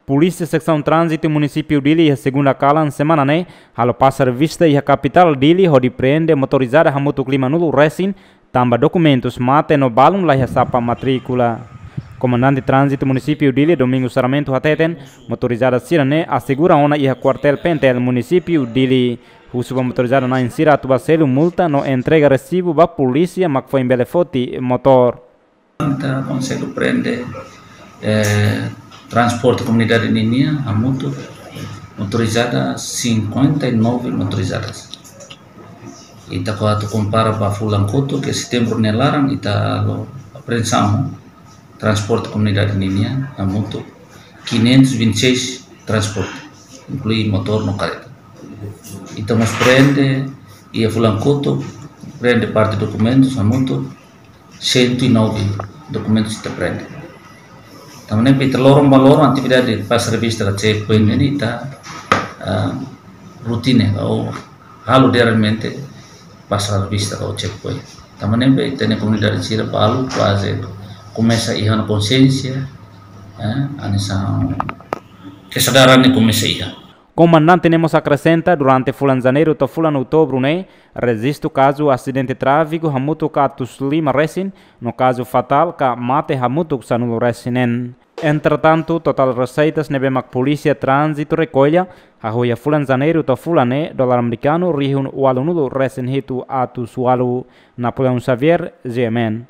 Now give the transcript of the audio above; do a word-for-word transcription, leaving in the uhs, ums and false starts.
Polísia Seksaun Tránzitu Munisípiu Dili iha segunda kalan semana ne'e halo pasa revista iha kapitál Dili hodi prende motorizada hamutuk limanulu resin, tanba dokumentus mate no balun la iha sapa matríkula. Komandante Tránzitu Munisípiu Dili, Domingo Sarmento hateten, motorizada sira-ne'e asegura ona iha kuartél P N T L Munisípiu Dili. Husu ba motorizada na'in sira atu ba selu multa no entrega resibu ba polísia mak foin bele foti motór. Ita konsege prende, eh, transporte komunidade ninian hamutuk motorizada cinquenta e nove motorizadas. Ita kuandu kompara ba fulan kotuk, ke setembru nia laran, ita halo apreensaun transporte komunidade ninian hamutuk quinhentos e vinte e seis transporte, inklui motór no kareta. Ita mós prende, iha fulan kotuk, prende parte dokumentus hamutuk cento e nove dokumentus ita prende. Tanba ne'e ita loron ba loron atividade pasa revista ka checkpoint ne'e ita, ah, rotina ka halo diariamente pasa revista ka checkpoint. Tanba ne'e ita-nia komunidade sira balu kuaze komesa iha ona konsiénsia, eh, hanesan kesadaran ne'e komesa iha. Komandante ne'e mós akresenta, durante fulan Janeiru to'o fulan Outubru ne'e, rejistu kazu asidente tráfiku hamutuk atus lima resin, no kazu fatál ka mate hamutuk sanulu resin neen. Entretantu, totál reseitas ne'ebé mak Polísia Tránzitu rekolla, hahú iha fulan Janeiru to'o fulan ne'e, dolar amerikanu rihun ualunulu resin hitu atus ualu. Napoleão Xavier, G M N.